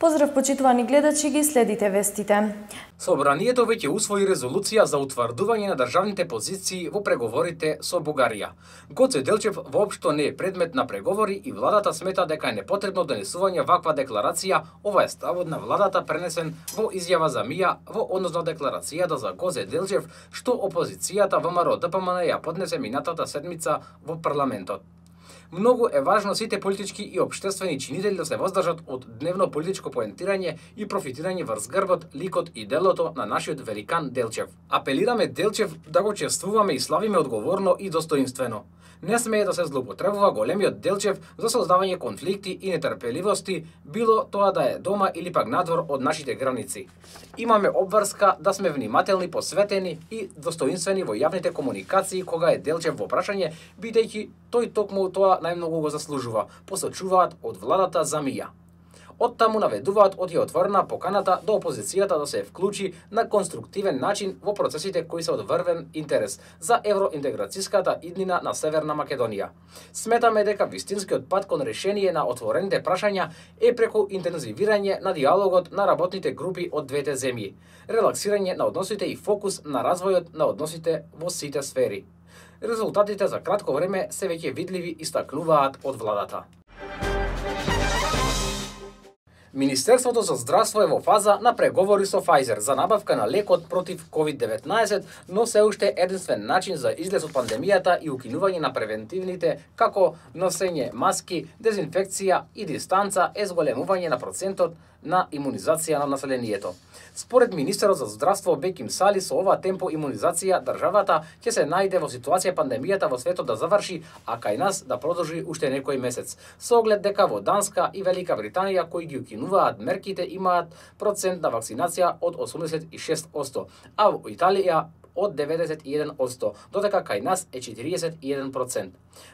Поздрав почитувани гледачи, ги следите вестите. Собранието веќе усвои резолуција за утврдување на државните позиции во преговорите со Бугарија. Гоце Делчев воопшто не е предмет на преговори и владата смета дека е непотребно донесување ваква декларација. Ова е ставот на владата пренесен во изјава за МИА во однос на декларацијата за Гоце Делчев што опозицијата ВМРО ДПМН ја поднесе минатата седмица во парламентот. Многу е важно сите политички и општествени чинители да се воздржат од дневно политичко поентирање и профитирање врз грбот, ликот и делото на нашиот великан Делчев. Апелираме Делчев да го чествуваме и славиме одговорно и достоинствено. Не смее да се злоупотребува големиот Делчев за создавање конфликти и нетрпеливости, било тоа да е дома или пак надвор од нашите граници. Имаме обврска да сме внимателни, посветени и достоинствени во јавните комуникации кога е Делчев во прашање, бидејќи тој токму тоа најмногу го заслужува, посочуваат од владата за МИА. Оттаму наведуваат од ја отворена поканата до опозицијата да се вклучи на конструктивен начин во процесите кои се од врвен интерес за евроинтеграцијската иднина на Северна Македонија. Сметаме дека вистинскиот пат кон решение на отворените прашања е преку интензивирање на диалогот на работните групи од двете земји, релаксирање на односите и фокус на развојот на односите во сите сфери. Резултатите за кратко време се веќе видливи, истакнуваат од владата. Министерството за здравство е во фаза на преговори со Pfizer за набавка на лекот против COVID-19, но се уште единствен начин за излез од пандемијата и укинување на превентивните како носење маски, дезинфекција и дистанца е зголемување на процентот на имунизација на населението. Според министерот за здравство Беким Сали, со ова темпо имунизација државата ќе се најде во ситуација пандемијата во светот да заврши, а кај нас да продолжи уште некој месец. Со оглед дека во Данска и Велика Британија кои ги укинуваат мерките имаат процент на вакцинација од 86%, а во Италија од 91%, додека кај нас е 41%.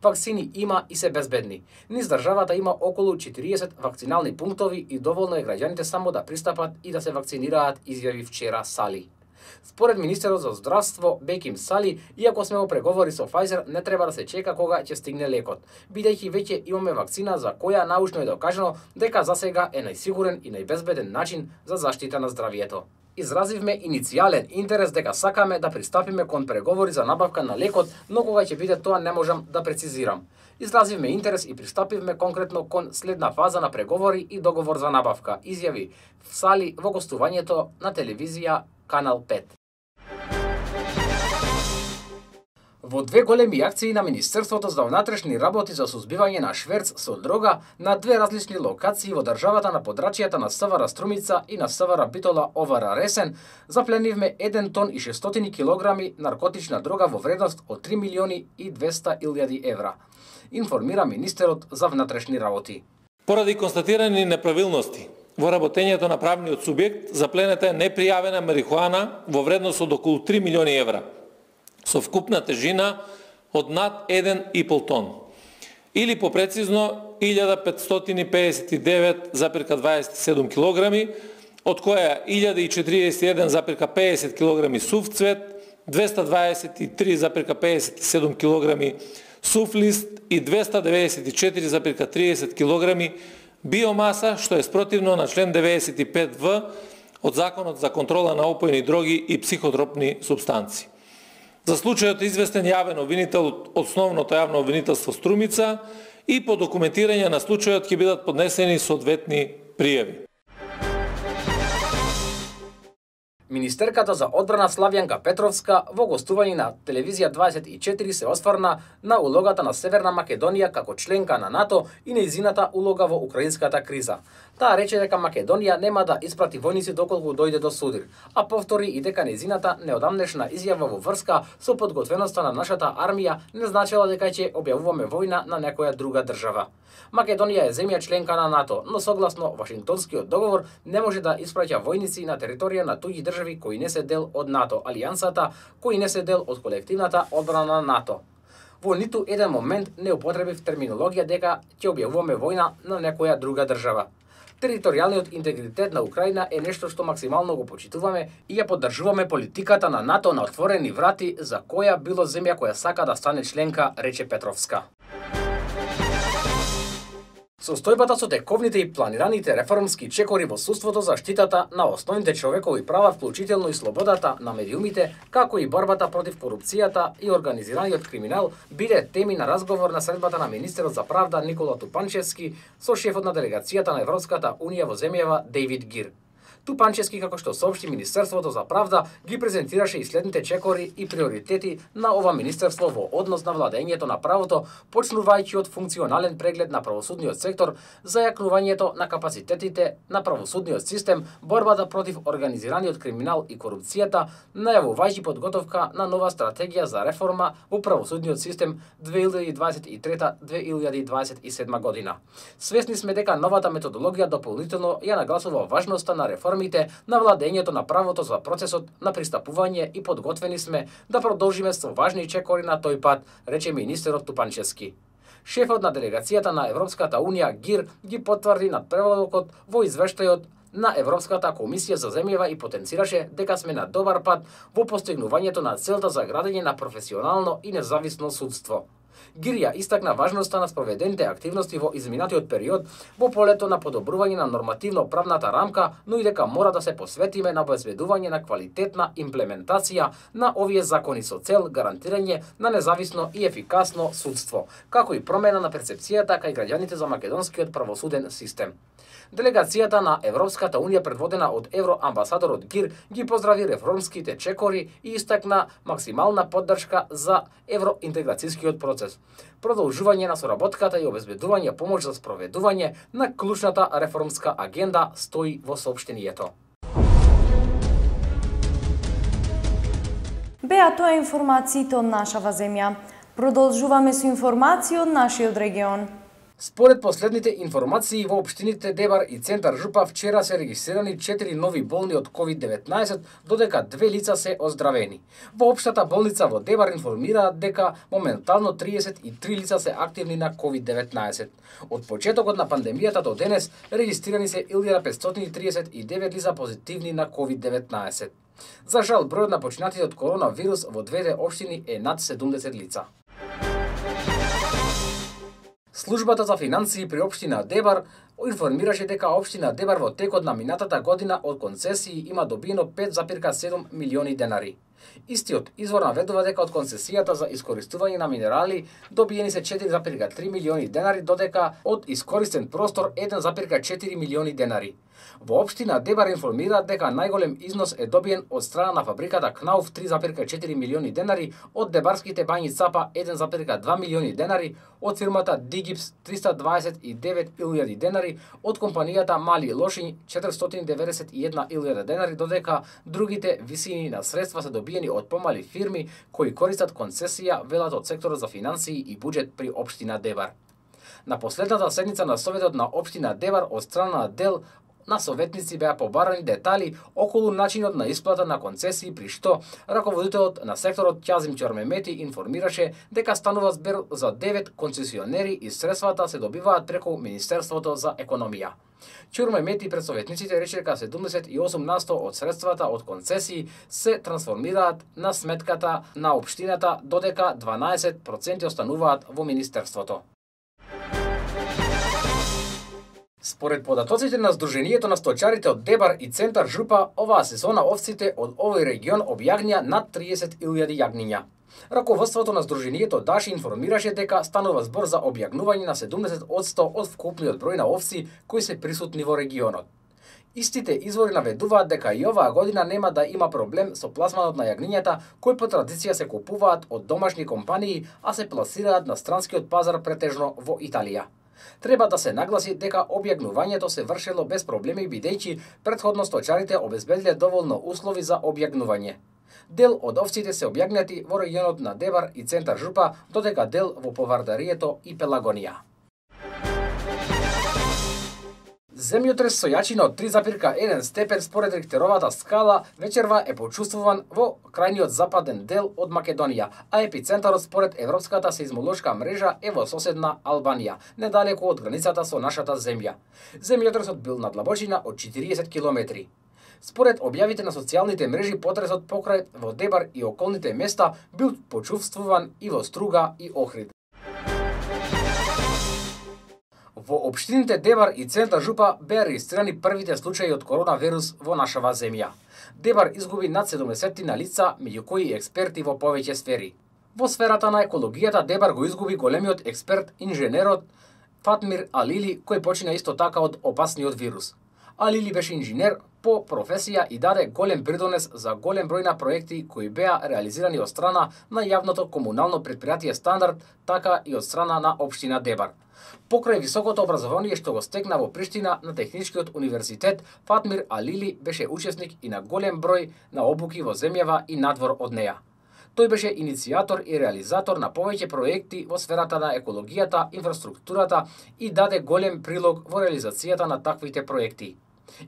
Вакцини има и се безбедни. Низ државата има околу 40 вакцинални пунктови и доволно е граѓаните само да пристапат и да се вакцинираат, изјави вчера Сали. Според министерот за здравство Беким Сали, иако сме во преговори со Pfizer, не треба да се чека кога ќе стигне лекот, бидејќи веќе имаме вакцина за која научно е докажано дека засега е најсигурен и најбезбеден начин за заштита на здравието. Изразивме иницијален интерес дека сакаме да пристапиме кон преговори за набавка на лекот, но кога ќе биде тоа не можам да прецизирам. Изразивме интерес и пристапивме конкретно кон следна фаза на преговори и договор за набавка, изјави Сали во гостувањето на телевизија Канал 5. Во две големи акции на Министерството за внатрешни работи за сузбивање на шверц со дрога на две различни локации во државата на подрачјата на СВР Струмица и на СВР Битола Овара Ресен, запленивме 1 тон и 600 килограми наркотична дрога во вредност од 3 милиони и 200 илјади евра, информира министерот за внатрешни работи. Поради констатирани неправилности во работењето на правниот субјект, запленета е непријавена марихуана во вредност од околу 3 милиони евра, со вкупна тежина од над 1,5 тон, или попрецизно 1559,27 килограми, од која 1041,50 килограми сув цвет, 223,57 килограми сув лист и 294,30 килограми биомаса, што е спротивно на член 95В од Законот за контрола на опојни дроги и психотропни супстанци. За случајот известен јавен обвинител од основното јавно обвинителство Струмица и по документирање на случајот ќе бидат поднесени соодветни пријави. Министерката за одбрана Славјанка Петровска во гостување на телевизија 24 се осврна на улогата на Северна Македонија како членка на НАТО и нејзината улога во украинската криза. Таа рече дека Македонија нема да испрати војници доколку дојде до судир, а повтори и дека нејзината неодамнешна изјава во врска со подготвеноста на нашата армија не значела дека ќе објавуваме војна на некоја друга држава. Македонија е земја членка на НАТО, но согласно Вашингтонскиот договор не може да испраќа војници на територија на туѓи држави кои не се дел од НАТО алијансата, кои не се дел од колективната одбрана на НАТО. Во ниту еден момент не употребив терминологија дека ќе објавуваме војна на некоја друга држава. Територијалниот интегритет на Украина е нешто што максимално го почитуваме и ја поддржуваме политиката на НАТО на отворени врати за која било земја која сака да стане членка, рече Петровска. Состојбата со тековните и планираните реформски чекори во судството, заштитата на основните човекови права, вклучително и слободата на медиумите, како и борбата против корупцијата и организираниот криминал, биле теми на разговор на средбата на министерот за правда Никола Тупанчевски со шефот на делегацијата на Европската унија во земјава Дейвид Гир. Тупанчевски, како што соопшти Министерството за правда, ги презентираше и следните чекори и приоритети на ова министерство во однос на владењето на правото, почнувајќи од функционален преглед на правосудниот сектор, зајакнувањето на капацитетите на правосудниот систем, борбата против организираниот криминал и корупцијата, најавувајќи подготовка на нова стратегија за реформа во правосудниот систем 2023-2027 година. Свесни сме дека новата методологија дополнително ја нагласува важноста на реформите на владењето на правото за процесот на пристапување и подготвени сме да продолжиме со важни чекори на тој пат, рече министерот Тупанчевски. Шефот на делегацијата на Европската унија Гир ги потврди надпреварокот во извештајот на Европската комисија за земјава и потенцираше дека сме на добар пат во постигнувањето на целта за градење на професионално и независно судство. Гир ја истакна важноста на спроведените активности во изминатиот период во полето на подобрување на нормативно-правната рамка, но и дека мора да се посветиме на обезбедување на квалитетна имплементација на овие закони со цел гарантирање на независно и ефикасно судство, како и промена на перцепцијата кај граѓаните за македонскиот правосуден систем. Делегацијата на Европската унија, предводена од евроамбасадорот Гир, ги поздрави реформските чекори и истакна максимална поддршка за евроинтеграцијскиот процес, продолжување на соработката и обезбедување помош за спроведување на клучната реформска агенда, стои во соопштението. Беа тоа информациите од нашава земја. Продолжуваме со информации од нашиот регион. Според последните информации во општините Дебар и Центар Жупа, вчера се регистрирани 4 нови болни од COVID-19, додека 2 лица се оздравени. Во општата болница во Дебар информираат дека моментално 33 лица се активни на COVID-19. Од почетокот на пандемијата до денес регистрирани се 1539 лица позитивни на COVID-19. За жал, бројот на починатите од коронавирус во двете општини е над 70 лица. Службата за финансии при општина Дебар информираше дека општина Дебар во текот на минатата година од концесии има добиено 5,7 милиони денари. Истиот извор наведува дека од концесијата за искористување на минерали добиени се 4,3 милиони денари, додека од искористен простор 1,4 милиони денари. Во општина Дебар информираат дека најголем износ е добиен од страна на фабриката Кнауф 3,4 милиони денари, од дебарските бањи Цапа 1,2 милиони денари, од фирмата Дигипс 329.000 денари, од компанијата Мали Лошињ 491.000 денари, додека другите висини на средства се добиени од помали фирми кои користат концесија, велат од секторот за финансии и буџет при општина Дебар. На последната седница на Советот на општина Дебар од страна на дел на советници беа побарани детали околу начинот на исплата на концесии, при што раководителот на секторот Ќазим Ќормемети информираше дека станува збор за 9 концесионери и средствата се добиваат преку Министерството за економија. Ќормемети пред советниците рече дека 78% од средствата од концесии се трансформираат на сметката на општината, додека 12% остануваат во Министерството. Според податоците на Сдруженијето на сточарите од Дебар и Центар Жупа, оваа сезона овците од овој регион објагнија над 30.000 јагниња. Раководството на Сдруженијето Даши информираше дека станува збор за објагнување на 70% од вкупниот број на овци кои се присутни во регионот. Истите извори наведуваат дека и оваа година нема да има проблем со пласманот на јагнињата, кои по традиција се купуваат од домашни компании, а се пласираат на странскиот пазар претежно во Италија. Треба да се нагласи дека објагнувањето се вршело без проблеми, бидејќи претходно сточарите обезбедиле доволно услови за објагнување. Дел од овците се објагнати во регионот на Дебар и Центар Жупа, додека дел во Повардарието и Пелагонија. Земјотрес со јачина од 3,1 степен според Рихтеровата скала вечерва е почувствуван во крајниот западен дел од Македонија, а епицентарот според Европската сеизмолошка мрежа е во соседна Албанија, недалеку од границата со нашата земја. Земјотресот бил на длабочина од 40 километри. Според објавите на социјалните мрежи, потресот покрај во Дебар и околните места бил почувствуван и во Струга и Охрид. Во општините Дебар и Центар Жупа беа регистрирани првите случаи од коронавирус во нашава земја. Дебар изгуби над 70 на лица, меѓу кои експерти во повеќе сфери. Во сферата на екологијата Дебар го изгуби големиот експерт, инженерот Фатмир Алили, кој почина исто така од опасниот вирус. Алили беше инженер по професија и даде голем придонес за голем број на проекти кои беа реализирани од страна на јавното комунално претпријатие Стандард, така и од страна на општина Дебар. Покрај високото образование што го стекна во Приштина на Техничкиот универзитет, Фатмир Алили беше учесник и на голем број на обуки во земјава и надвор од неја. Тој беше иницијатор и реализатор на повеќе проекти во сферата на екологијата, инфраструктурата и даде голем прилог во реализацијата на таквите проекти.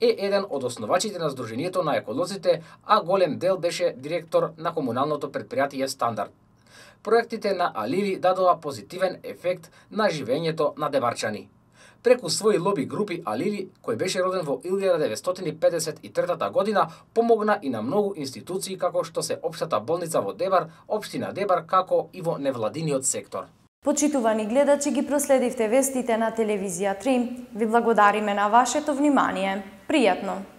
Е еден од основачите на Сдруженијето на еколозите, а голем дел беше директор на комуналното претпријатие Стандард. Проектите на Алили дадоа позитивен ефект на живењето на дебарчани. Преку своји лоби групи Алили, кој беше роден во 1953 година, помогна и на многу институции како што се Општата болница во Дебар, Општина Дебар, како и во невладиниот сектор. Почитувани гледачи, ги проследивте вестите на телевизија 3. Ви благодариме на вашето внимание. Пријатно!